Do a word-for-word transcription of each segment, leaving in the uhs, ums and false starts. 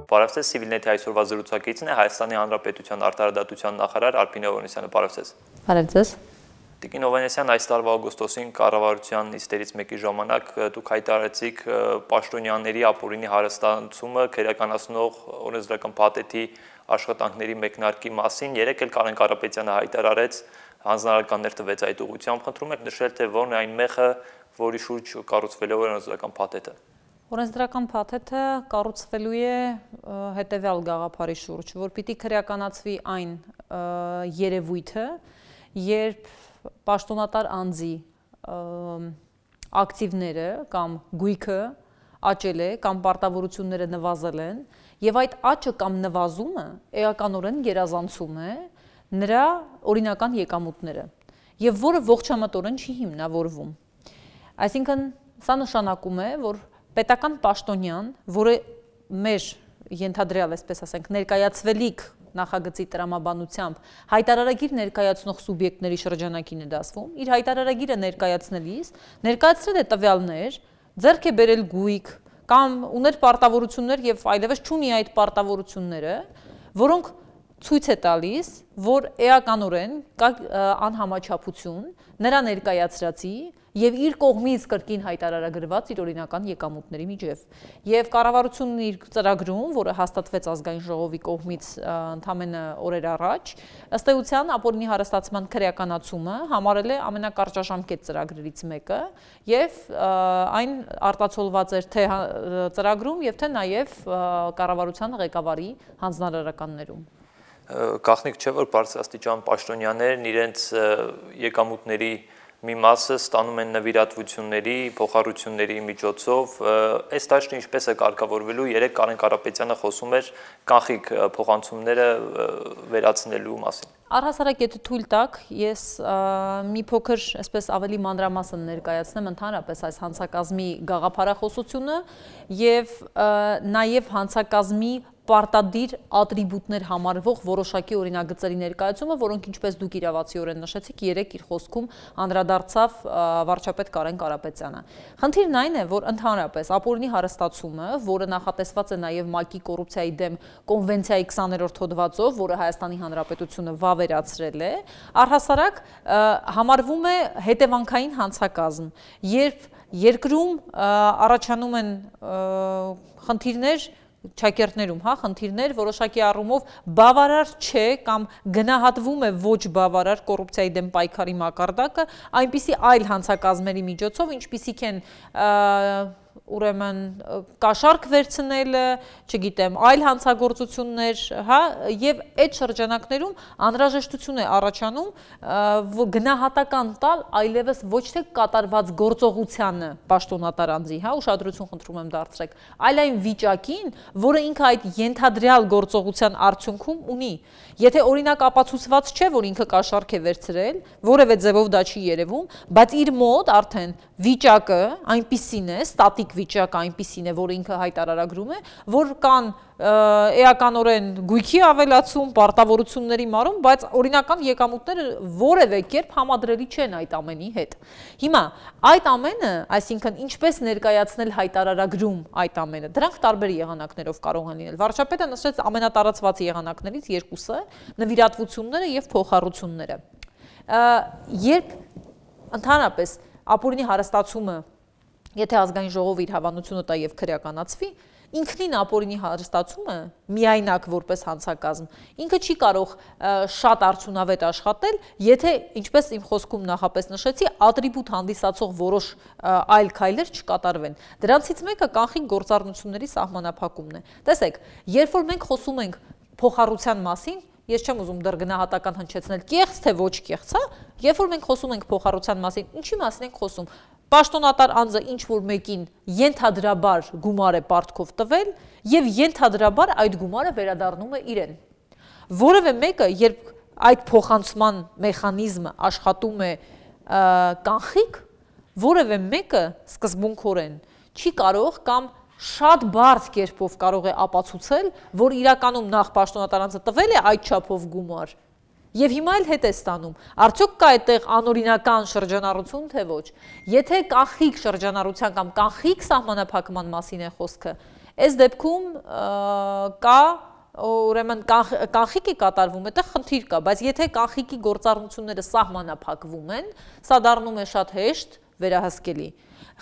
Բարև ձեզ, Civilnet-ի այսօրվա զրուցակիցն է Հայաստանի Հանրապետության արտարադատության նախարար Արփին Հովհաննիսյանը, բարև ձեզ։ Բարև ձեզ։ Տիկին Հովհաննիսյան, այս տարվա օգոստոսին կառավարության նիստերից մեկի ժամանակ դուք հայտարարեցիք պաշտոնյաների ապօրինի հարստացումը քերականացնող օրենսդրական փաթեթի աշխատանքների մեկնարկի մասին։ Երեկ էլ Կարեն Կարապետյանը հայտարարեց, հանձնարարականներ տվեց այդ ուղղությամբ, խնդրում եք նշել, թե որն է այն մեխը, որի շուրջ կառուցվել է օրենսդրական փաթեթը։ Օրենսդրական փաթեթը կառուցվելու է հետևյալ գաղափարի շուրջ, որ պիտի քրեականացվի այն երևույթը, երբ պաշտոնատար անձի ակտիվները կամ գույքը աճել է կամ պարտավորությունները նվազել են եւ այդ աճը կամ նվազումը էականորեն գերազանցում է նրա օրինական եկամուտները եւ որը ողջամտորեն չի հիմնավորվում։ Այսինքն սա նշանակում է, որ պետական պաշտոնյան, որը մեր ենթադրյալ, այսպես ասենք, ներկայացվելիք նախագծի տրամաբանությամբ հայտարարագիր ներկայացնող սուբյեկտների շրջանակին է դասվում, իր հայտարարագիրը ներկայացնելիս ներկայացրել է տվյալներ, ձեռք է բերել գույք կամ ուներ պարտավորություններ եւ այլևս չունի այդ պարտավորությունները, որոնք ցույց է տալիս, որ էականորեն կա անհամաչափություն նրա ներկայացրածի եւ իր կողմից կրկին հայտարարագրված իր օրինական եկամուտների միջև։ Եվ կառավարությունն իր ծրագրում, որը հաստատվեց ազգային ժողովի կողմից ընդամենը օրեր առաջ, ըստ էության ապօրինի հարստացման քրեականացումը համարել է ամենակարճաժամկետ ծրագրերից մեկը եւ այն արտացոլված էր թե ծրագրում եւ թե նաեւ կառավարության ղեկավարի հանձնարարականներում։ Գաղտնիք չէ, որ բարձրաստիճան պաշտոնյաներն իրենց եկամուտների մի մասը ստանում են նվիրատվությունների, փոխառությունների միջոցով, այս դաշտը ինչպես է կարգավորվելու, երեք Կարեն Կարապետյանը խոսում էր կանխիկ փոխանցումները վերացնելու մասին։ Առհասարակ եթե թույլ տաք, ես մի փոքր այսպես ավելի մանրամասն ներկայացնեմ ընդհանրապես այս հանցակազմի գաղափարախոսությունը եւ նաեւ հանցակազմի պարտադիր ատրիբուտներ համարվող որոշակի օրինագծերի ներկայացումը, որոնք ինչպես դուք իրավացիորեն նշեցիք, երեք իր խոսքում անդրադարձավ վարչապետ Կարեն Կարապետյանը։ Խնդիրն այն է, որ ընդհանրապես ապօրինի հարստացումը, որը նախատեսված է նաև ՄԱԿ-ի կոռուպցիայի դեմ կոնվենցիայի քսաներորդ հոդվածով, որը Հայաստանի Հանրապետությունը վավերացրել է, առհասարակ համարվում է հետևանքային հանցակազմ, երբ երկրում առաջանում են խնդիրներ չակերտներում, հա, խնդիրներ, որոշակի առումով բավարար չէ կամ գնահատվում է ոչ բավարար կոռուպցիայի դեմ պայքարի մակարդակը, այնպիսի այլ հանցակազմերի միջոցով, ինչպիսիք են ուրեմն կաշառք վերցնելը, չգիտեմ, այլ հանցագործություններ, հա, եւ այդ շրջանակներում անհրաժեշտություն է առաջանում գնահատական տալ այլևս ոչ թե կատարված գործողությանը պաշտոնատար անձի, հա, ուշադրություն խնդրում եմ դարձրեք, այլ այն վիճակին, որը ինքը այդ ենթադրյալ գործողության արդյունքում ունի։ Եթե օրինակ ապացուցված չէ, որ ինքը կաշառք է վերցրել, որևէ ձևով դա չի երևում, բայց իր մոտ արդեն վիճակը այնպիսին է, ստատիկ վիճակը այնպիսին է, որ ինքը հայտարարագրում է, որ կան էականորեն գույքի ավելացում, պարտավորությունների մարում, բայց օրինական եկամուտները որևէ կերպ համադրելի չեն այդ ամենի հետ։ Հիմա այդ ամենը, այսինքն ինչպես ներկայացնել հայտարարագրում այդ ամենը, դրանք տարբեր եղանակներով կարող են լինել։ Վարչապետը նշեց ամենատարածված եղանակներից երկուսը, նվիրատվությունները եւ փոխառությունները։ Երբ ընդհանրապես ապօրինի հարստացումը, եթե ազգային ժողովը իր հավանությունը տա եւ քրեականացվի, ինքնին ապօրինի հարստացումը միայնակ որպես հանցակազմ, ինքը չի կարող շատ արդյունավետ աշխատել, եթե, ինչպես իմ խոսքում նախապես նշեցի, ատրիբուտ հանդիսացող որոշ այլ քայլեր չկատարվեն։ Դրանցից մեկը կանխիկ գործառնությունների սահմանափակումն է։ Տեսեք, երբ որ մենք խոսում ենք փոխառության մասին, ես չեմ ուզում դեռ գնահատական հնչեցնել կեղծ թե ոչ կեղծ, հա, երբ որ մենք խոսում ենք փոխառության մասին, ինչի մասին ենք խոսում։ Պաշտոնատար անձը ինչ որ մեկին ենթադրաբար գումար է պարտքով տվել եւ ենթադրաբար այդ գումարը վերադառնում է իրեն։ Որևէ մեկը, երբ այդ փոխանցման մեխանիզմը աշխատում է կանխիկ, որևէ մեկը սկզբունքորեն չի կարող կամ շատ բարդ կերպով կարող է ապացուցել, որ իրականում նախ պաշտոնատար անձը տվել է այդ չափով գումար եւ հիմա էլ հետ է ստանում։ Արդյոք կա այդտեղ անօրինական շրջանառություն թե ոչ։ Եթե կանխիկ շրջանառության կամ կանխիկ սահմանափակման մասին է խոսքը, Այս դեպքում կա ուրեմն կանխիկ է կատարվում, այդտեղ խնդիր կա, բայց եթե կանխիկի գործառնությունները սահմանափակվում են, սա դառնում է շատ հեշտ վերահսկելի։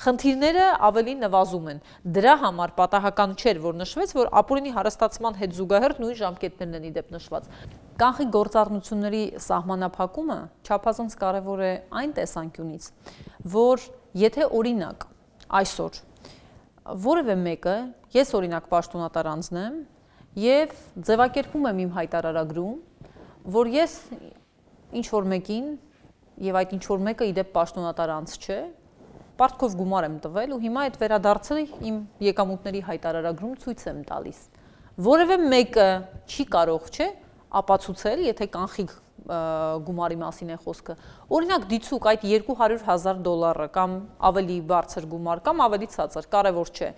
Խնդիրները ավելի նվազում են։ Դրա համար պատահական չէր, որ նշվեց, որ ապօրինի հարստացման հետ զուգահեռ նույն ժամկետներն են իդեպ նշված։ Կանխիկ գործառնությունների սահմանափակումը չափազանց կարևոր է այն տեսանկյունից, որ եթե օրինակ այսօր որևէ մեկը, ես օրինակ պաշտոնատար անձն եմ եւ ձևակերպում եմ իմ հայտարարագրում, որ ես ինչ որ մեկին եւ այդ ինչ որ մեկը իդեպ պաշտոնատար անձ չէ, պարտքով գումար եմ տվել ու հիմա այդ վերադարձը իմ եկամուտների հայտարարագրում ցույց եմ տալիս։ Որևէ մեկը չի կարող, չէ, ապացուցել, եթե կանխիկ գումարի մասին է խոսքը։ Օրինակ դիցուկ այդ երկու հարյուր հազար դոլարը կամ ավելի բարձր գումար կամ ավելի ցածր, կարևոր չէ։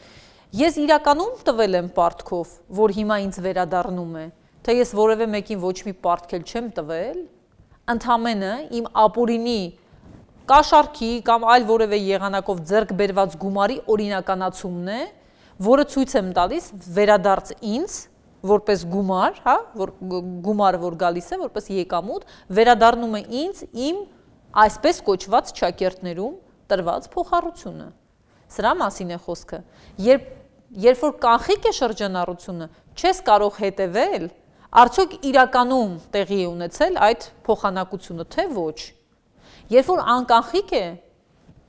Ես իրականում տվել եմ պարտքով, որ հիմա ինձ վերադառնում է, թե ես որևէ մեկին ոչ մի պարտք էլ չեմ տվել, ընդամենը իմ ապօրինի կաշառքի կամ այլ որևէ եղանակով ձեռք բերված գումարի օրինականացումն է, որը ցույց եմ տալիս վերադարձ ինձ, որպես գումար, հա, որ գումարը որ գալիս է, որպես եկամուտ, վերադառնում է ինձ իմ այսպես կոչված ճակերտներում տրված փոխառությունը։ Սրա մասին է խոսքը։ Երբ երբ որ կանխիկ է շրջանառությունը, չես կարող հետևել, արդյոք իրականում տեղի է ունեցել այդ փոխանակությունը, թե ոչ։ Երբ որ անկանխիկ է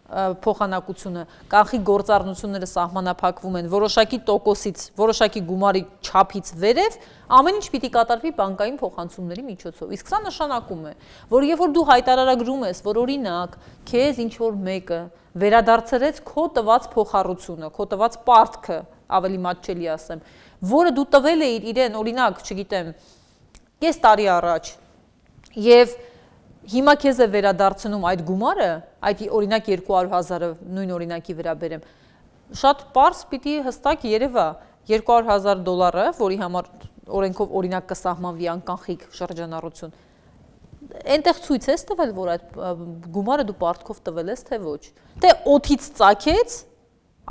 փոխանակությունը, կանխիկ գործառնությունները սահմանափակվում են որոշակի տոկոսից, որոշակի գումարի չափից վերև, ամեն ինչ պիտի կատարվի բանկային փոխանցումների միջոցով։ Իսկ սա նշանակում է, որ երբ որ դու հայտարարագրում ես, որ օրինակ քեզ ինչ որ մեկը վերադարձրեց քո տված փոխառությունը, քո տված պարտքը, ավելի մատչելի ասեմ, որը դու տվել էիր իրեն, օրինակ, չգիտեմ, կես տարի առաջ, եւ հիմա քեզ է վերադարձնում այդ գումարը, այդ օրինակ երկու հարյուր հազարը նույն օրինակի վրա բերեմ, շատ պարզ պիտի հստակ երևա երկու հարյուր հազար դոլարը, որի համար օրենքով օրինակ կսահմանվի անկանխիկ շրջանառություն, այնտեղ ցույց ես տվել, որ այդ գումարը դու պարտքով տվել ես, թե ոչ, թե օդից ծագեց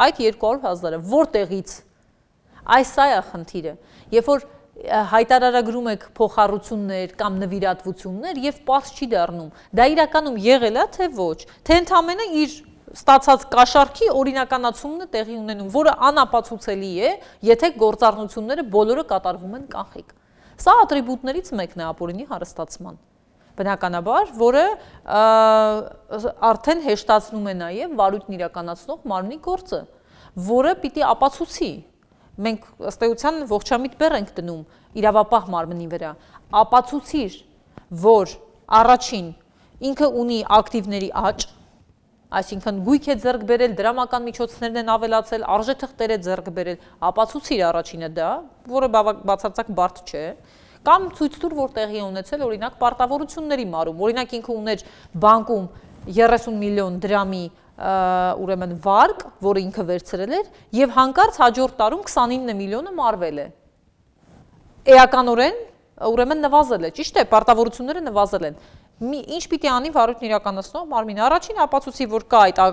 այդ երկու հարյուր հազարը, որտեղից, այս սա է խնդիրը, երբ որ հայտարարագրում եք փոխառություններ կամ նվիրատվություններ եւ պարզ չի դառնում, դա իրականում եղել է, թե ոչ, թե ընդամենը իր ստացած կաշառքի օրինականացումն է տեղի ունենում, որը անապացուցելի է, եթե գործառնությունները բոլորը կատարվում են կանխիկ։ Սա ատրիբուտներից մեկն է ապօրինի հարստացման, բնականաբար, որը արդեն հեշտացնում է նաեւ վարույթն իրականացնող մարմնի գործը, որը պիտի ապացուցի։ Մենք ըստ էության ողջամիտ բեռ ենք դնում իրավապահ մարմնի վրա, ապացուցիր, որ առաջին ինքը ունի ակտիվների աճ, այսինքն գույք է ձեռք բերել, դրամական միջոցներն են ավելացել, արժեթղթեր է ձեռք բերել, ապացուցիր առաջինը դա, որը բացարձակ բարդ չէ, կամ ցույց տուր, որ տեղի է ունեցել օրինակ պարտավորությունների մարում, օրինակ ինքը ուներ բանկում երեսուն միլիոն դրամի ուրեմն վարկ, որը ինքը վերցրել էր, եւ հանկարծ հաջորդ տարում քսանինը միլիոնը մարվել է։ Էականորեն ուրեմն նվազել է, ճիշտ է, պարտավորությունները նվազել են։ Ինչ պիտի անի վարույթն իրականացնող մարմինը, առաջին ապացուցի, որ կա այդ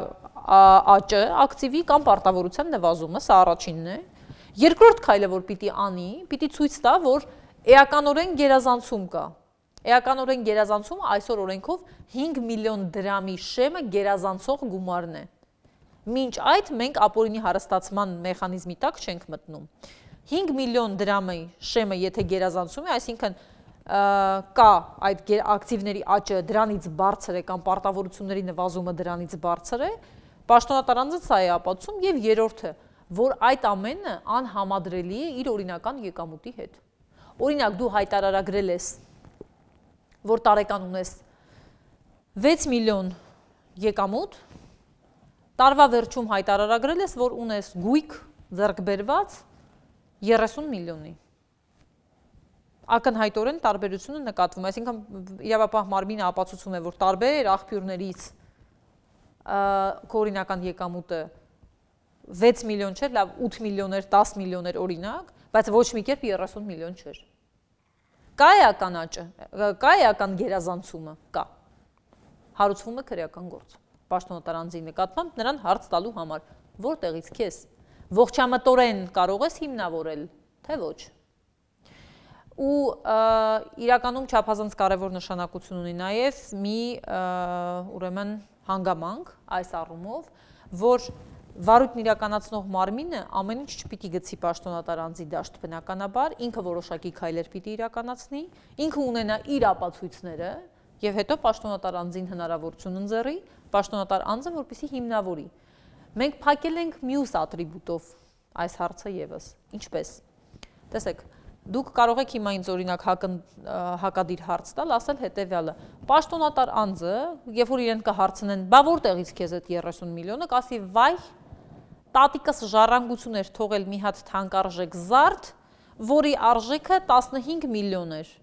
աճը, ակտիվի կամ պարտավորության նվազումը, սա առաջինն է։ Երկրորդ քայլը, որ պիտի անի, պիտի ցույց տա, որ էականորեն գերազանցում կա։ Էականորեն գերազանցումը այսօր օրենքով հինգ միլիոն դրամի շեմը գերազանցող գումարն է։ Մինչ այդ մենք ապօրինի հարստացման մեխանիզմի տակ չենք մտնում։ հինգ միլիոն դրամի շեմը եթե գերազանցում է, այսինքն կա այդ ակտիվների աճը դրանից բարձր է կամ պարտավորությունների նվազումը դրանից բարձր է, պաշտոնատար անձը սա է ապացուցում, եւ երրորդը, որ այդ ամենը անհամադրելի է իր օրինական եկամուտի հետ։ Օրինակ դու հայտարարագրել ես, որ տարեկան ունես վեց միլիոն եկամուտ, տարվա վերջում հայտարարագրել ես, որ ունես գույք ձեռք բերված երեսուն միլիոնի։ Ակնհայտորեն տարբերությունը նկատվում է, այսինքն իրավապահ մարմինը ապացուցում է, որ տարբեր աղբյուրներից քո օրինական եկամուտը վեց միլիոն չէր, լավ ութ միլիոն էր, դաս միլիոն էր օրինակ, բայց ոչ մի կերպ երեսուն միլիոն չէր։ Կա էական աճը, կա էական գերազանցումը, կա։ Հարուցվում է քրեական գործ, պաշտոնատար անձի նկատմամբ նրան հարց տալու համար, որտեղից քեզ, ողջամտորեն կարող ես հիմնավորել, թե ոչ։ Ու իրականում չափազանց կարևոր նշանակություն ունի նաև մի ուրեմն հանգամանք այս առումով, որ վարույթն իրականացնող մարմինը ամեն ինչ չպիտի գցի պաշտոնատար անձի դաշտ բնականաբար, ինքը որոշակի քայլեր պիտի իրականացնի, ինքը ունենա իր ապացույցները եւ հետո պաշտոնատար անձին հնարավորություն ընձեռի, պաշտոնատար անձը որպեսզի հիմնավորի։ Մենք փակել ենք մյուս ատրիբուտով այս հարցը եւս, ինչպես։ Տեսեք, դուք կարող եք հիմա ինձ օրինակ հակադիր հարց տալ, ասել հետևյալը. պաշտոնատար անձը, երբ որ իրեն կհարցնեն, բա որտեղից քեզ այդ երեսուն միլիոնը, կասի վայ, տատիկս ժառանգություն էր թողել մի հատ թանկարժեք զարդ, որի արժեքը տասնհինգ միլիոն էր։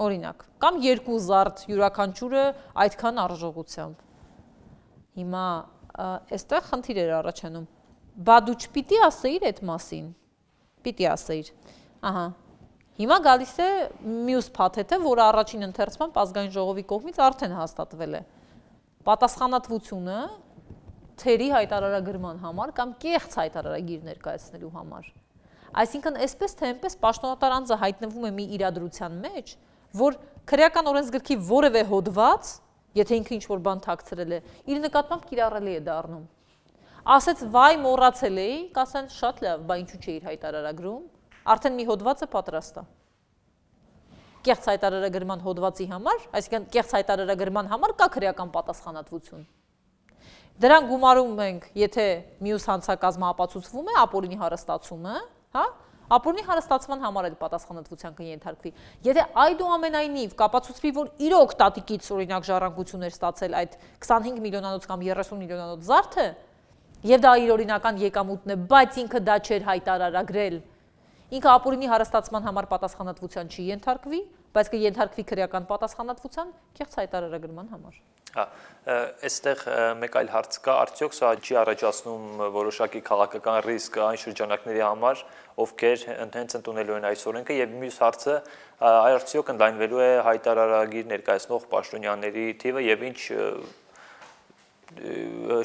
Օրինակ, կամ երկու զարդ յուրաքանչյուրը այդքան արժողությամբ։ Հիմա այստեղ խնդիր էր առաջանում։ Բա դու չպիտի ասեիր այդ մասին։ Պիտի ասեիր, ահա, հիմա գալիս է մյուս փաթեթը, որը առաջին ընթերցման ազգային ժողովի կողմից արդեն հաստատվել է։ Պատասխանատվությունը թերի հայտարարագրման համար կամ կեղծ հայտարարագիր ներկայացնելու համար։ Այսինքն, այսպես թե այնպես պաշտոնատար անձը հայտնվում է մի իրադրության մեջ, որ քրեական օրենսգրքի որևէ հոդված, եթե ինքը ինչ-որ բան թաքցրել է, իր նկատմամբ կիրառելի է դառնում։ Ասեց վայ մոռացել էի, կասեն շատ լավ, բա ինչու չէիր հայտարարագրում, արդեն մի հոդված է պատրաստ է։ Կեղծ հայտարարագրման հոդվածի համար, այսինքն կեղծ հայտարարագրման համար կա քրեական պատասխանատվություն։ Դրան գումարում ենք, եթե մյուս հանցակազմը ապացուցվում է, ապօրինի հարստացումը, հա, ապօրինի հարստացման համար էլ պատասխանատվության կենթարկվի։ Եթե այդուամենայնիվ կապացուցվի, որ իրոք տատիկից օրինակ ժառանգություն էր ստացել այդ քսանհինգ միլիոնանոց կամ երեսուն միլիոնանոց զարդը, եւ դա իր օրինական եկամուտն է, բայց ինքը դա չէր հայտարարագրել, ինքը ապօրինի հարստացման համար պատասխանատվության չի ենթարկվի, բայց կենթարկվի քրեական պատասխանատվության կեղծ հայտարարագրման համար։ Հա, այստեղ մեկ այլ հարց կա, արդյոք սա չի առաջացնում որոշակի քաղաքական ռիսկ այն շրջանակների համար, ովքեր հենց ընդունելու են այս օրենքը, եւ մյուս հարցը, արդյոք ընդլայնվելու է հայտարարագիր ներկայացնող պաշտոնյաների թիվը եւ ինչ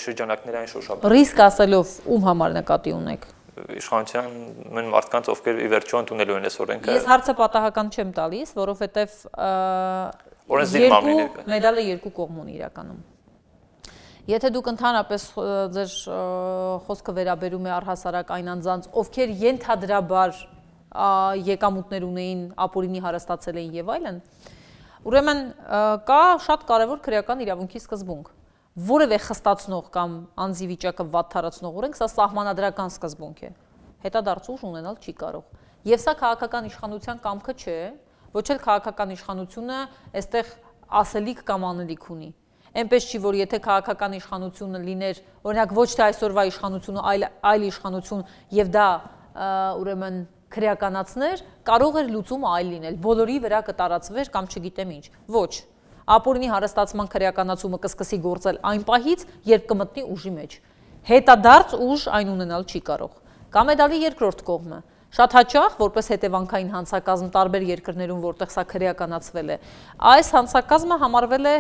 շրջանակներ այն շոշափ։ Ռիսկ ասելով ում համար նկատի ունեք։ Իշխանության մեն մարդկանց, ովքեր ի վերջո ընդունելու են այս օրենքը։ Ես հարցը պատահական չեմ տալիս, որովհետև երկու մեդալը երկու կողմ ունի իրականում։ Եթե դուք ընդհանրապես ձեր խոսքը վերաբերում է առհասարակ այն անձանց, ովքեր ենթադրաբար եկամուտներ ունեին, ապօրինի հարստացել էին եւ այլն, ուրեմն կա շատ կարևոր քրեական իրավունքի սկզբունք։ Որևէ խստացնող կամ անձի վիճակը վատթարացնող օրենք, սա սահմանադրական սկզբունք է։ Հետադարձ ուժ ունենալ չի կարող։ Եվ սա քաղաքական իշխանության կամքը չէ, ոչ էլ քաղաքական իշխանությունը այստեղ ասելիք կամ անելիք ունի։ Այնպես չի, որ եթե քաղաքական իշխանությունը լիներ, օրինակ ոչ թե այսօրվա իշխանությունը, այլ այլ իշխանություն եւ դա ուրեմն քրեականացներ, կարող էր լուծումը այլ լինել, բոլորի վրա կտարածվեր կամ չգիտեմ ինչ։ Ոչ։ Ապօրինի հարստացման քրեականացումը կսկսի գործել այն պահից, երբ կմտնի ուժի մեջ։ Հետադարձ ուժ այն ունենալ չի կարող։ Կամ է դալի երկրորդ կողմը։ Շատ հաճախ, որպես հետևանքային հանցակազմ տարբեր երկրներում, որտեղ սա քրեականացվել է, այս հանցակազմը համարվել է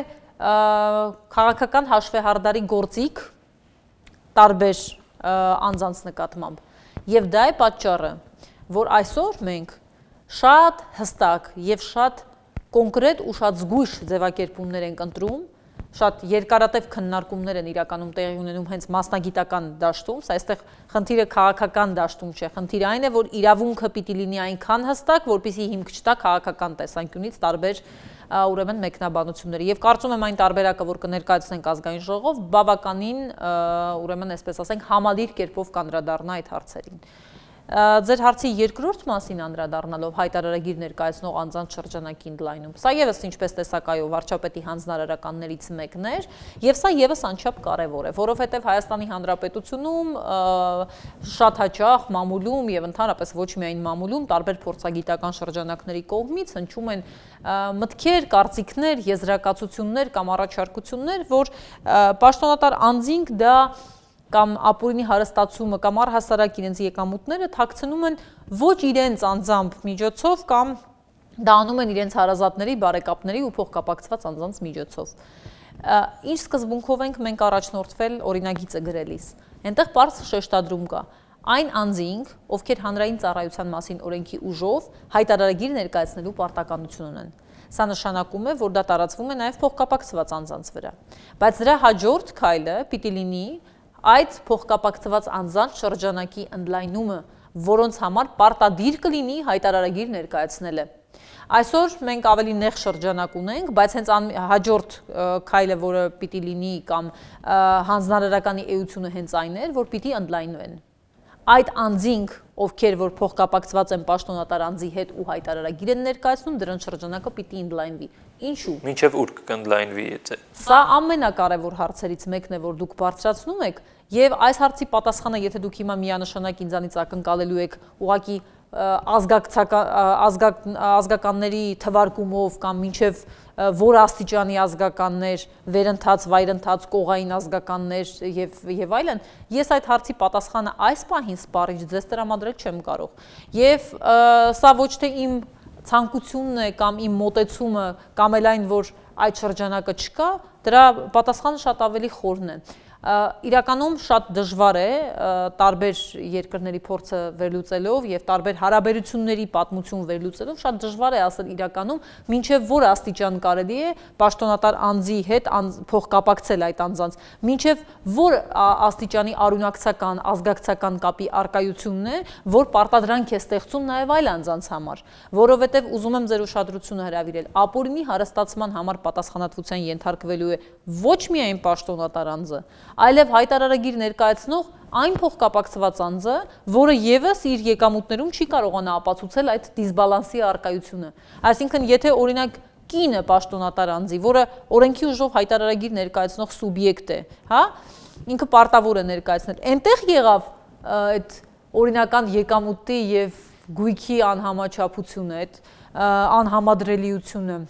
քաղաքական հաշվեհարդարի գործիք տարբեր անձանց նկատմամբ։ Եվ դա է պատճառը, որ այսօր մենք շատ հստակ եւ շատ կոնկրետ ու շատ զգույշ ձևակերպումներ ենք ընտրում, շատ երկարատև քննարկումներ են իրականում տեղի ունենում հենց մասնագիտական դաշտում, սա այստեղ խնդիրը քաղաքական դաշտում չէ, խնդիրը այն է, որ իրավունքը պիտի լինի այնքան հստակ, որպեսզի հիմք չտա քաղաքական տեսանկյունից տարբեր ուրեմն մեկնաբանությունների։ Եվ կարծում եմ այն տարբերակը, որ կներկայացնենք ազգային ժողով, բավականին ուրեմն այսպես ասենք համալիր կերպով կանդրադառնա այդ հարցերին։ Ձեր հարցի երկրորդ մասին անդրադառնալով հայտարարագիր ներկայացնող անձանց շրջանակի ընդլայնում։ Սա եւս ինչպես տեսակայով վարչապետի հանձնարարականներից մեկն էր, եւ սա եւս անչափ կարեւոր է, որովհետեւ Հայաստանի Հանրապետությունում շատ հաճախ մամուլում եւ ընդհանրապես ոչ միայն մամուլում տարբեր փորձագիտական շրջանակների կողմից հնչում են մտքեր, կարծիքներ, եզրակացություններ կամ առաջարկություններ, որ պաշտոնատար անձինք դա կամ ապօրինի հարստացումը կամ առհասարակ իրենց եկամուտները թաքցնում են ոչ իրենց անձամբ միջոցով կամ դա անում են իրենց հարազատների, բարեկապների ու փոխկապակցված անձանց միջոցով։ Ինչ սկզբունքով ենք մենք առաջնորդվել օրինագիծը գրելիս։ Այնտեղ բարձ շեշտադրում կա։ Այն անձինք, ովքեր հանրային ծառայության մասին օրենքի ուժով հայտարարագիր ներկայացնելու պարտականություն ունեն։ Սա նշանակում է, որ դա տարածվում է նաև փոխկապակցված անձանց վրա։ Բայց դրա հաջորդ քայլը պիտի լինի այդ փոխկապակցված անձանց շրջանակի ընդլայնումը, որոնց համար պարտադիր կլինի հայտարարագիր ներկայացնելը։ Այսօր մենք ավելի նեղ շրջանակ ունենք, բայց հենց հաջորդ քայլը, որը պիտի լինի կամ հանձնարարականի էությունը հենց այն էր, որ պիտի ընդլայնվեն։ Այդ անձինք, ովքեր որ փոխկապակցված են պաշտոնատար անձի հետ ու հայտարարագիր են ներկայացնում, դրանց շրջանակը պիտի ընդլայնվի։ Ինչու՞։ Մինչև ուր կընդլայնվի եթե։ Սա ամենակարևոր հարցերից մեկն է, որ դուք բարձրացնում եք, եւ այս հարցի պատասխանը, եթե դուք հիմա միանշանակ ինձանից ակնկալելու եք ուղղակի ազգականների թվարկումով կամ մինչև որ աստիճանի ազգականներ, վերընթաց, վայրընթաց, կողային ազգականներ եւ եւ այլն, ես այդ հարցի պատասխանը այս պահին սպառիչ ձեզ տրամադրել չեմ կարող։ Եվ սա ոչ թե իմ ցանկությունն է կամ իմ մոտեցումը կամ էլ այն, որ այդ շրջանակը չկա, դրա պատասխանը շատ ավելի խորն է։ Իրականում շատ դժվար է տարբեր երկրների փորձը վերլուծելով եւ տարբեր հարաբերությունների պատմություն վերլուծելով շատ դժվար է ասել իրականում մինչեւ որ աստիճան կարելի է պաշտոնատար անձի հետ փոխկապակցել այդ անձանց, մինչեւ որ աստիճանի արունակցական, ազգակցական կապի արկայությունն է, որ պարտադրանք է ստեղծում նաեւ այլ անձանց համար, որովհետեւ ուզում եմ ձեր ուշադրությունը հրավիրել, ապօրինի հարստացման համար պատասխանատվության ենթարկվելու է ոչ միայն պաշտոնատար անձը, այլև հայտարարագիր ներկայացնող այն փոխկապակցված անձը, որը եւս իր եկամուտներում չի կարողանա ապացուցել այդ դիսբալանսի արկայությունը։ Այսինքն, եթե օրինակ կինը պաշտոնատար անձի, որը օրենքի ուժով հայտարարագիր ներկայացնող սուբյեկտ է, հա, ինքը պարտավոր է ներկայացնել, այնտեղ եղավ այդ օրինական եկամուտի եւ գույքի անհամաչափությունը, այդ անհամադրելիությունը,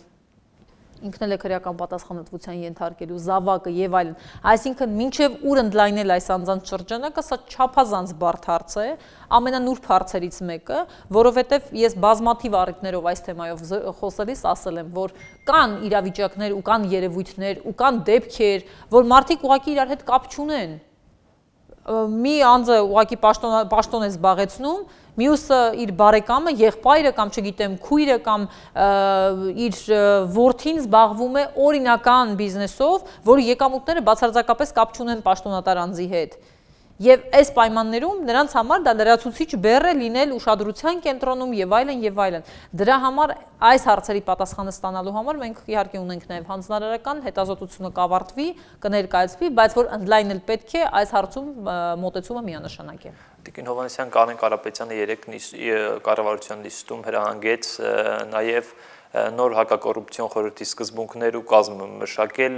ինքն էլ է քրեական պատասխանատվության ենթարկելու զավակը եւ այլն։ Այսինքն, մինչեւ ուր ընդլայնել այս անձանց շրջանակը, սա չափազանց բարդ հարց է, ամենանուրբ հարցերից մեկը, որովհետեւ ես բազմաթիվ առիթներով այս թեմայով խոսելիս ասել եմ, որ կան իրավիճակներ ու կան երևույթներ ու կան դեպքեր, որ մարդիկ ուղղակի իրար հետ կապ չունեն։ Մի անձը ուղղակի պաշտոն է զբաղեցնում, մյուսը իր բարեկամը, եղբայրը կամ չգիտեմ քույրը կամ իր որդին զբաղվում է օրինական բիզնեսով, որի եկամուտները բացարձակապես կապ չունեն պաշտոնատար անձի հետ։ Եվ այս պայմաններում նրանց համար դա լրացուցիչ բեռ է լինել ուշադրության կենտրոնում եւ այլն եւ այլն։ Դրա համար այս հարցերի պատասխանը ստանալու համար մենք իհարկե ունենք նաեւ հանձնարարական հետազոտությունը կավարտվի, կներկայացվի, բայց որ ընդլայնել պետք է, այս հարցում մոտեցումը միանշանակ է։ Տիկին Հովհաննիսյան, Կարեն Կարապետյանը երեք կառավարության նիստում հրահանգեց նաեւ նոր հակակոռուպցիոն խորհրդի սկզբունքներ ու կազմ մշակել,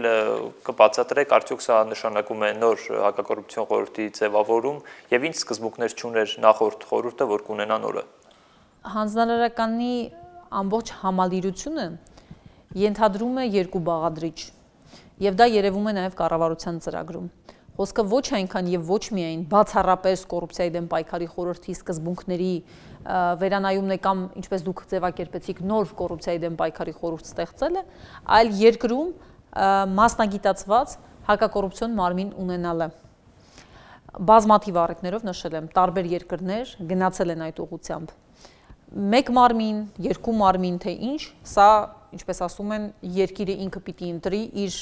կբացատրեք, արդյոք սա նշանակում է նոր հակակոռուպցիոն խորհրդի ձևավորում եւ ինչ սկզբունքներ չուներ նախորդ խորհուրդը, որ կունենա նորը։ Հանձնարարականի ամբողջ համալիրությունը ենթադրում է երկու բաղադրիչ եւ դա երևում է նաեւ կառավարության ծրագրում։ Խոսքը ոչ այնքան եւ ոչ միայն բացառապես կոռուպցիայի դեմ պայքարի խորհրդի սկզբունքների վերանայումն է կամ ինչպես դուք ձևակերպեցիք նոր կոռուպցիայի դեմ պայքարի խորհուրդ ստեղծելը, այլ երկրում մասնագիտացված հակակոռուպցիոն մարմին ունենալը։ Բազմաթիվ առիթներով նշել եմ, տարբեր երկրներ գնացել են այդ ուղղությամբ։ Մեկ մարմին, երկու մարմին, թե ինչ, սա, ինչպես ասում են, երկիրը ինքը պիտի ընտրի իր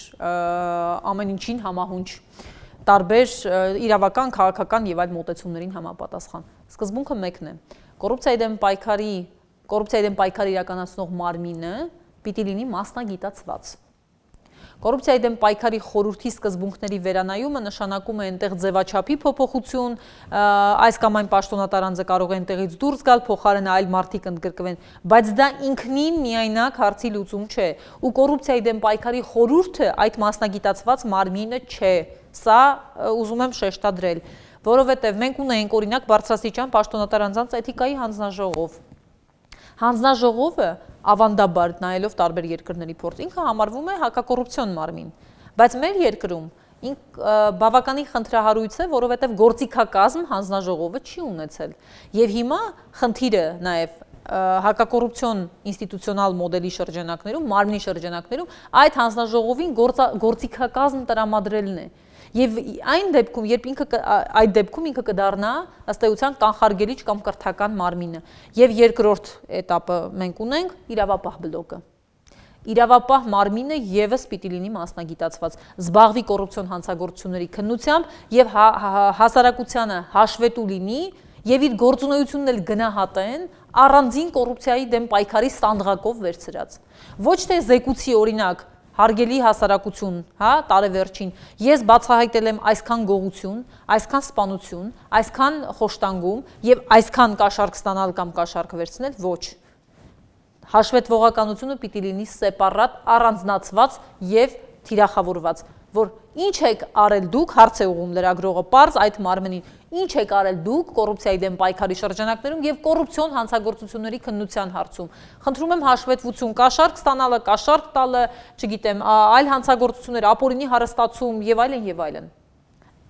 ամեն ինչին համահունչ տարբեր իրավական, քաղաքական եւ այլ մոտեցումներին համապատասխան։ Սկզբունքը մեկն է։ Կոռուպցիայի դեմ պայքարի, կոռուպցիայի դեմ պայքար իրականացնող մարմինը պիտի լինի մասնագիտացված։ Կոռուպցիայի դեմ պայքարի խորհրդի սկզբունքների վերանայումը նշանակում է այնտեղ ձևաչափի փոփոխություն, այս կամ այն պաշտոնատար անձը կարող է այնտեղից դուրս գալ, փոխարենը այլ մարդիկ ընդգրկվեն, բայց դա ինքնին միայնակ հարցի լուծում չէ։ Ու կոռուպցիայի դեմ պայքարի խորհուրդը այդ մասնագիտացված մարմինը չէ։ Սա ուզում եմ շեշտադրել, որովհետև մենք ունենք օրինակ բարձրաստիճան պաշտոնատար անձանց էթիկայի հանձնաժողով։ Հանձնաժողովը ավանդաբար նայելով տարբեր երկրների փորձ ինքը համարվում է հակակոռուպցիոն մարմին, բայց մեր երկրում բավականին խնդրահարույց է, որովհետև գործիքակազմ հանձնաժողովը չի ունեցել։ Եվ հիմա խնդիրը նաև հակակոռուպցիոն ինստիտուցիոնալ մոդելի շրջանակներում, մարմնի շրջանակներում այդ հանձնաժողովին գործիքակազմ տրամադրելն է։ Եվ այն դեպքում, երբ ինքը այդ դեպքում ինքը կդառնա ըստ էության կանխարգելիչ կամ կրթական մարմինը։ Եվ երկրորդ этаպը մենք ունենք իրավապահ բլոկը։ Իրավապահ մարմինը եւս պիտի լինի մասնագիտացված, զբաղվի կոռուպցիոն հանցագործությունների քննությամբ եւ հասարակությանը հաշվետու լինի եւ իր գործունեությունն էլ գնահատեն առանձին կոռուպցիայի դեմ պայքարի սանդղակով վերցրած։ Ոչ թե զեկուցի օրինակ հարգելի հասարակություն, հա, տարեվերջին, ես բացահայտել եմ այսքան գողություն, այսքան սպանություն, այսքան խոշտանգում եւ այսքան կաշառք ստանալ կամ կաշառք վերցնել, ոչ։ Հաշվետվողականությունը պիտի լինի սեպարատ, առանձնացված եւ թիրախավորված, որ ինչ եք արել դուք, հարց է ուղում լրագրողը պարզ այդ մարմնին, ինչ եք արել դուք կոռուպցիայի դեմ պայքարի շրջանակներում եւ կոռուպցիոն հանցագործությունների քննության հարցում։ Խնդրում եմ հաշվետվություն, կաշառք ստանալը, կաշառք տալը, չգիտեմ, այլ հանցագործություններ, ապօրինի հարստացում եւ այլն եւ այլն։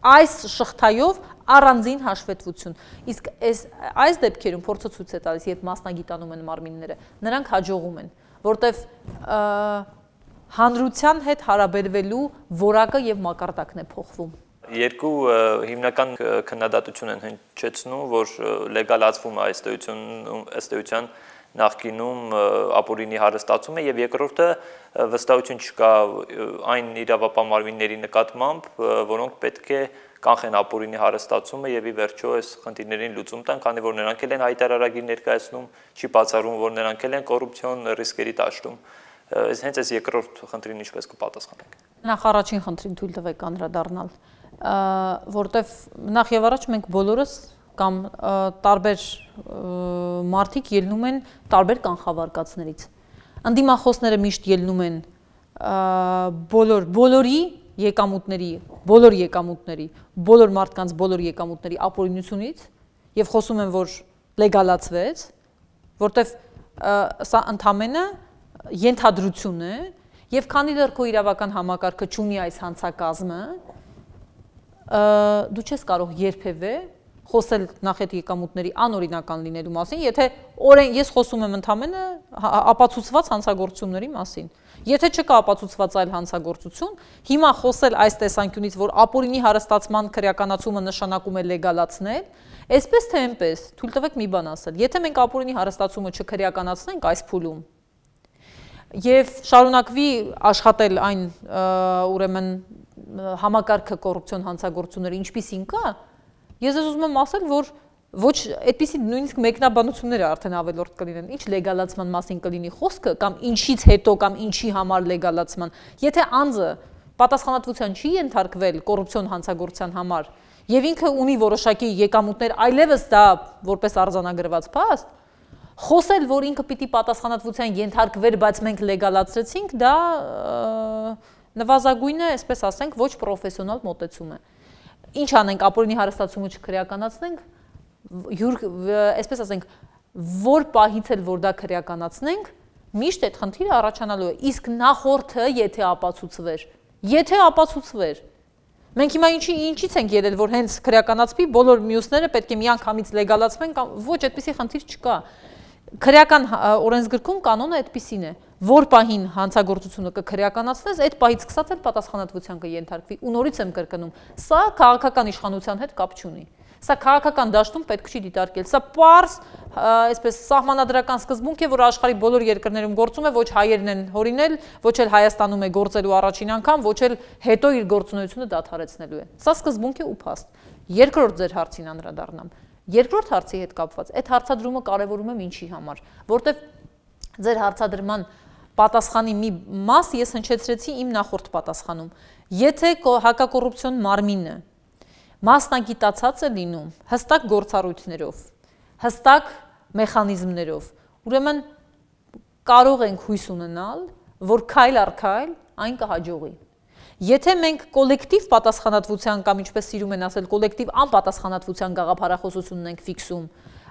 Այս շղթայով առանձին հաշվետվություն։ Իսկ այս այս դեպքերում փորձը ցույց է տալիս, երբ մասնագիտանում են մարմինները, նրանք հաջողում են, որտեվ հանրության հետ հարաբերվելու որակը եւ մակարդակն է փոխվում։ Երկու հիմնական քննադատություն են հնչեցնում, որ լեգալացվում է ըստ էության նախկինում ապօրինի հարստացումը եւ երկրորդը վստահություն չկա այն իրավապահ մարմինների նկատմամբ, որոնք պետք է կանխեն ապօրինի հարստացումը եւ ի վերջո այս խնդիրներին լուծում տան, քանի որ նրանք էլ են հայտարարագիր ներկայացնում, չի բացառվում, որ նրանք էլ են կոռուպցիոն ռիսկերի տաշտում։ Այս հենց այս երկրորդ խնդրին ինչպես կպատասխանենք։ Նախ առաջին խնդրին թույլ տվեք անդրադառնալ, որտեվ նախ եւ առաջ մենք բոլորս կամ տարբեր մարդիկ ելնում են տարբեր կանխավարկածներից։ Անդիմախոսները միշտ ելնում են բոլոր բոլորի եկամուտների, բոլոր եկամուտների, բոլոր մարդկանց բոլոր եկամուտների ապօրինությունից եւ խոսում են, որ լեգալացվեց, որտեվ սա ընդամենը ենթադրություն է եւ քանի դեռ քո իրավական համակարգը չունի այս հանցակազմը, դու չես կարող երբևէ խոսել նախետ եկամուտների անօրինական լինելու մասին, եթե օրեն ես խոսում եմ ընդամենը ապացուցված հանցագործությունների մասին։ Եթե չկա ապացուցված այլ հանցագործություն, հիմա խոսել այս տեսանկյունից, որ ապօրինի հարստացման քրեականացումը նշանակում է լեգալացնել, այսպես թե այնպես, թույլ տվեք մի բան ասել, եթե մենք ապօրինի հարստացումը չքրեականացնենք այս փուլում, եւ շարունակվի աշխատել այն ուրեմն համակարգը կոռուպցիոն հանցագործությունների ինչպիսին կա, ես ես ուզում եմ ասել, որ ոչ այդպիսի նույնիսկ մեկնաբանությունները արդեն ավելորդ կլինեն, ինչ լեգալացման մասին կլինի խոսքը կամ ինչից հետո կամ ինչի համար լեգալացման, եթե անձը պատասխանատվության չի ենթարկվել կոռուպցիոն հանցագործության համար եւ ինքը ունի որոշակի եկամուտներ, այլևս դա որպես արձանագրված փաստ, խոսել, որ ինքը պիտի պատասխանատվության ենթարկվեր, բայց մենք լեգալացրեցինք, դա նվազագույնը, այսպես ասենք, ոչ պրոֆեսիոնալ մոտեցում է։ Ինչ անենք, ապօրինի հարստացումը չքրեականացնենք, այսպես ասենք, որ պահից էլ որ դա քրեականացնենք, միշտ այդ խնդիրը առաջանալու է, իսկ նախորդը եթե ապացուցվեր, եթե ապացուցվեր, մենք հիմա ինչի ինչից ենք ելել, որ հենց քրեականացվի, բոլոր մյուսները պետք է միանգամից լեգալացվեն, կամ ոչ այդպիսի խնդիր չկա։ Քրեական օրենսգրքում կանոնը այդպիսին է, որ պահին հանցագործությունը կքրեականացնես, այդ պահից սկսած էլ պատասխանատվության կենթարկվի, ու նորից եմ կրկնում, սա քաղաքական իշխանության հետ կապ չունի։ Սա քաղաքական դաշտում պետք չի դիտարկել։ Սա պարզ, այսպես սահմանադրական սկզբունք է, որ աշխարհի բոլոր երկրներում գործում է, ոչ հայերն են հորինել, ոչ էլ Հայաստանում է գործելու առաջին անգամ, ոչ էլ հետո իր գործունեությունը դադարեցնելու է։ Սա սկզբունք է ու փաստ։ Երկրորդ ձեր հարցին անդրադառնամ։ Երկրորդ հարցի հետ կապված, այդ հարցադրումը կարևորում եմ ինչի համար, որտեվ ձեր հարցադրման պատասխանի մի մաս ես հնչեցրեցի իմ նախորդ պատասխանում։ Եթե հակակոռուպցիոն մարմինը մասնագիտացած է լինում հստակ գործառույթներով, հստակ մեխանիզմներով, ուրեմն կարող ենք հույս ունենալ, որ քայլ առ քայլ այն կհաջողի։ Եթե մենք կոլեկտիվ պատասխանատվության կամ ինչպես սիրում են ասել, կոլեկտիվ անպատասխանատվության գաղափարախոսությունն ենք ֆիքսում,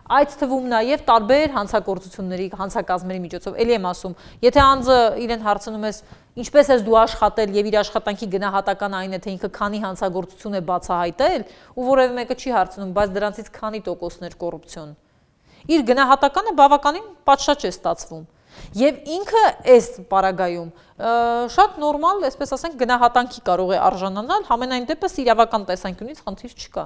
այդ թվում նաև տարբեր հանցագործությունների, հանցակազմերի միջոցով, էլի եմ ասում, եթե անձը իրեն հարցնում ես, ինչպես ես դու աշխատել եւ իր աշխատանքի գնահատական այն է, թե ինքը քանի հանցագործություն է բացահայտել, ու որևէ մեկը չի հարցնում, բայց դրանցից քանի տոկոսներ կոռուպցիոն։ Իր գնահատականը բավականին պատշաճ է ստացվում։ Եվ ինքը այս պարագայում շատ նորմալ, այսպես ասենք, գնահատանքի կարող է արժանանալ, համենայն դեպս իրավական տեսանկյունից խնդիր չկա։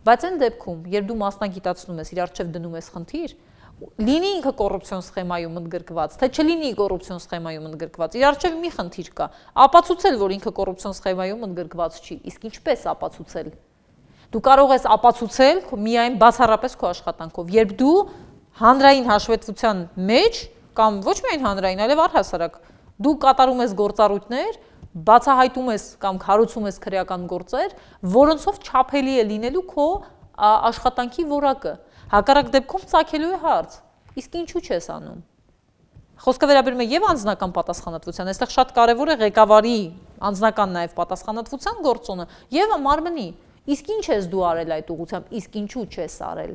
Բայց այն դեպքում, երբ դու մասնագիտացնում ես, իր առջև դնում ես խնդիր, լինի ինքը կոռուպցիոն սխեմայում ընդգրկված, թե չլինի կոռուպցիոն սխեմայում ընդգրկված, իր առջև մի խնդիր կա, ապացուցել, որ ինքը կոռուպցիոն սխեմայում ընդգրկված չի, իսկ ինչպես ապացուցել։ Դու կարող ես ապացուցել միայն բացառապես քո աշխատանքով, երբ դու հանրային հաշվետվության մեջ կամ ոչ միայն հանրային, այլև առհասարակ, դու կատարում ես գործառույթներ, բացահայտում ես կամ հարուցում ես քրեական գործեր, որոնցով չափելի է լինելու քո աշխատանքի որակը։ Հակառակ դեպքում ծագելու է հարց, իսկ ինչու չես անում։ Խոսքը վերաբերում է եւ անձնական պատասխանատվության, այստեղ շատ կարեւոր է ղեկավարի անձնական նաեւ պատասխանատվության գործոնը եւ մարմնի։ Իսկ ինչ ես դու արել այդ ուղղությամբ, իսկ ինչու չես արել։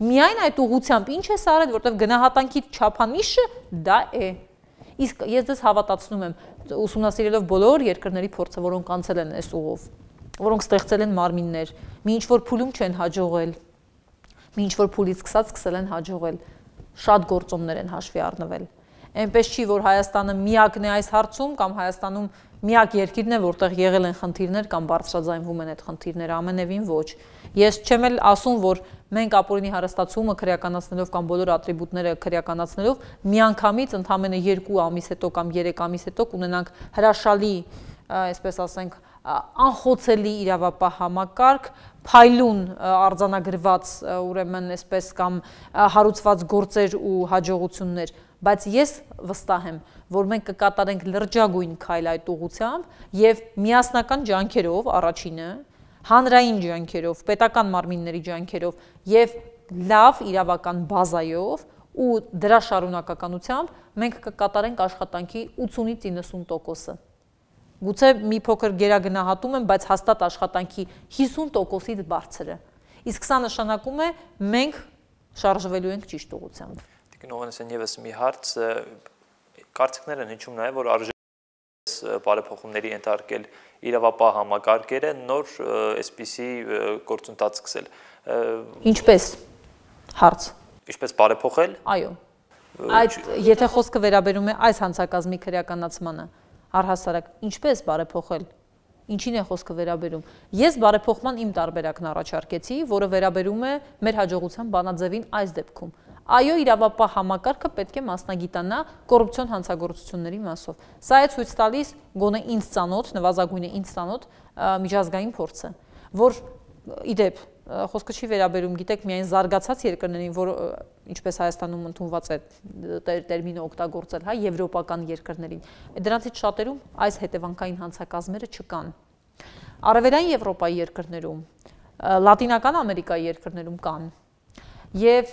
Միայն այդ ուղղությամբ ինչ ես արել, որտեղ գնահատանքի չափանիշը դա է։ Իսկ ես դες հավատացնում եմ, ուսումնասիրելով բոլոր երկրների փորձը, որոնք անցել են այս ուղով, որոնք ստեղծել են մարմիններ, մի ինչ-որ փուլում չեն հաջողել, մի ինչ-որ փուլից սկսած սկսել են հաջողել, շատ գործոններ են հաշվի առնվել։ Այնպես չի, որ Հայաստանը միակն է այս հարցում կամ Հայաստանում միակ երկիրն է, որտեղ եղել են խնդիրներ կամ բարձրաձայնվում են այդ խնդիրները, ամենևին ոչ։ Ես չեմ էլ ասում, որ մենք ապօրինի հարստացումը քրեականացնելով կամ բոլոր ատրիբուտները քրեականացնելով միանգամից ընդամենը երկու ամիս հետո կամ երեք ամիս հետո կունենանք հրաշալի, այսպես ասենք, անխոցելի իրավապահ համակարգ, փայլուն արձանագրված, ուրեմն այսպես կամ հարուցված գործեր ու հաջողություններ, բայց ես վստահ եմ, որ մենք կկատարենք լրջագույն քայլ այդ ուղղությամբ եւ միասնական ջանքերով առաջինը, հանրային ջանքերով, պետական մարմինների ջանքերով եւ լավ իրավական բազայով ու դրա շարունակականությամբ մենք կկատարենք աշխատանքի ութսունից իննսուն տոկոսը։ Գուցե մի փոքր գերագնահատում եմ, բայց հաստատ աշխատանքի հիսուն տոկոսից բարձր է։ Իսկ սա նշանակում է մենք շարժվելու ենք ճիշտ ուղղությամբ։ Տիկին Հովհաննիսյան, եւս մի հարց, կարծիքներ են հնչում նաեւ, որ արժե բարեփոխումների ենթարկել իրավապահ համակարգերը, նոր այսպիսի գործընթաց սկսել։ Ինչպես հարց։ Ինչպես բարեփոխել։ Այո։ Այդ եթե խոսքը վերաբերում է այս հանցակազմի քրեականացմանը, առհասարակ ինչպես բարեփոխել, ինչին է խոսքը վերաբերում։ Ես բարեփոխման իմ տարբերակն առաջարկեցի, որը վերաբերում է մեր հաջողության բանաձևին այս դեպքում։ Այո, իրավապահ համակարգը պետք է մասնագիտանա կոռուպցիոն հանցագործությունների մասով։ Սա է ցույց տալիս գոնե ինձ ծանոթ, նվազագույնը ինձ ծանոթ միջազգային փորձը, որ իդեպ խոսքը չի վերաբերում, գիտեք, միայն զարգացած երկրներին, որ ինչպես Հայաստանում ընդունված է տերմինը օգտագործել, հա, եվրոպական երկրներին։ Դրանցից շատերում այս հետևանքային հանցակազմերը չկան։ Արևելային Եվրոպայի երկրներում, Լատինական Ամերիկայի երկրներում կան։ Եվ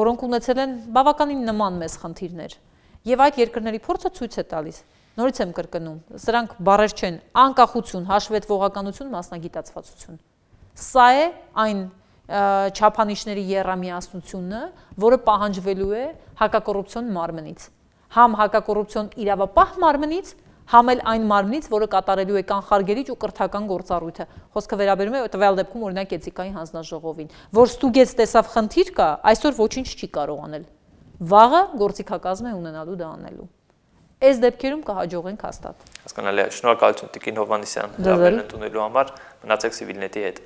որոնք ունեցել են բավականին նման մեծ խնդիրներ։ Եվ այդ երկրների փորձը ցույց է տալիս։ Նորից եմ կրկնում, սրանք բառեր չեն, անկախություն, հաշվետվողականություն, մասնագիտացվածություն։ Սա է այն չափանիշների եռամիասնությունը, որը պահանջվելու է հակակոռուպցիոն մարմնից, համ հակակոռուպցիոն իրավապահ մարմնից, համ էլ այն մարմնից, որը կատարելու է կանխարգելիչ ու կրթական գործառույթը։ Խոսքը վերաբերում է տվյալ դեպքում օրինակ էթիկայի հանձնաժողովին, որ ստուգեց տեսավ խնդիր կա, այսօր ոչինչ չի կարող անել։ Վաղը գործիքակազմ է ունենալու դա անելու։ Այս դեպքերում կհաջողենք հաստատ։ Հասկանալի է, շնորհակալություն Տիկին Հովհաննիսյան, լավերն ընդունելու համար, մնացեք Civilnet-ի հետ։